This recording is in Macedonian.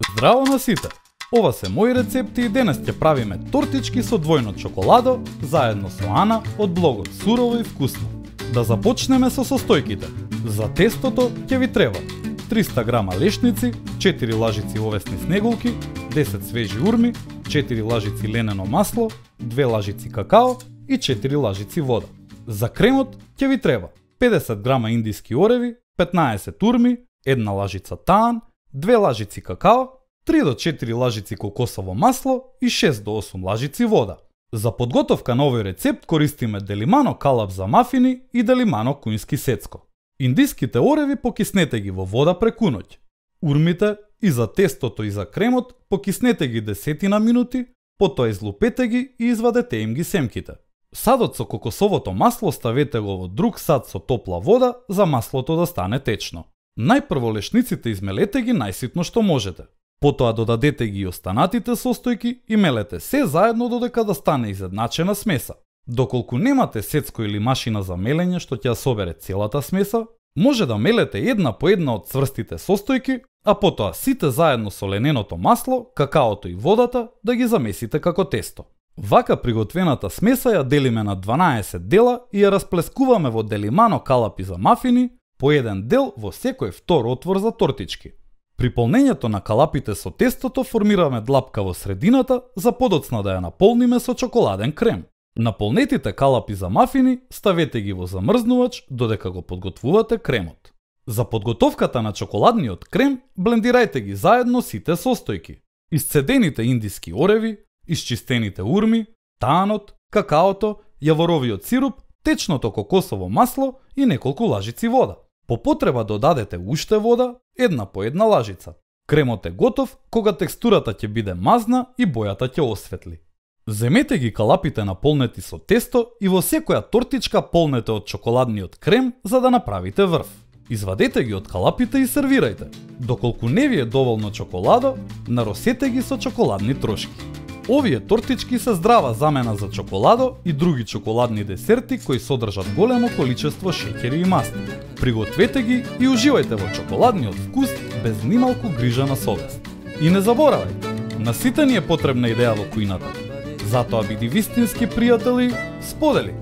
Здраво на сите! Ова се мои рецепти и денес ќе правиме тортички со двојно чоколадо заедно со Ана од блогот Сурово и вкусно. Да започнеме со состојките. За тестото ќе ви треба 300 грама лешници, 4 лажици овесни снеголки, 10 свежи урми, 4 лажици ленено масло, 2 лажици какао и 4 лажици вода. За кремот ќе ви треба 50 грама индиски ореви, 15 урми, 1 лажица таан, 2 лажици какао, 3 до 4 лажици кокосово масло и 6 до 8 лажици вода. За подготовка на овој рецепт користиме делимано калап за мафини и делимано кујнски сецко. Индиските ореви покиснете ги во вода преку ноќ. Урмите и за тестото и за кремот покиснете ги 10 минути, потоа излупете ги и извадете им ги семките. Садот со кокосовото масло ставете го во друг сад со топла вода за маслото да стане течно. Најпрво лешниците измелете ги најситно што можете. Потоа додадете ги и останатите состојки и мелете се заедно додека да стане изедначена смеса. Доколку немате сецко или машина за мелење што ќе ја собере целата смеса, може да мелете една по една од цврстите состојки, а потоа сите заедно со лененото масло, какаото и водата да ги замесите како тесто. Вака приготвената смеса ја делиме на 12 дела и ја расплескуваме во делимано калапи за мафини, по еден дел во секој втор отвор за тортички. При полнењето на калапите со тестото формираме длапка во средината за подоцна да ја наполниме со чоколаден крем. Наполнетите калапи за мафини ставете ги во замрзнувач додека го подготвувате кремот. За подготовката на чоколадниот крем блендирајте ги заедно сите состојки. Исцедените индиски ореви, исчистените урми, таанот, какаото, јаворовиот сируп, течното кокосово масло и неколку лажици вода. По потреба додадете уште вода, една по една лажица. Кремот е готов кога текстурата ќе биде мазна и бојата ќе осветли. Земете ги калапите наполнети со тесто и во секоја тортичка полнете од чоколадниот крем за да направите врв. Извадете ги од калапите и сервирајте. Доколку не ви е доволно чоколадо, наросете ги со чоколадни трошки. Овие тортички се здрава замена за чоколадо и други чоколадни десерти кои содржат големо количество шеќери и масти. Пригответе ги и уживајте во чоколадниот вкус без нималку грижа на совест. И не заборавајте, на сите ни е потребна идеја во кујната. Затоа биди вистински пријател и сподели!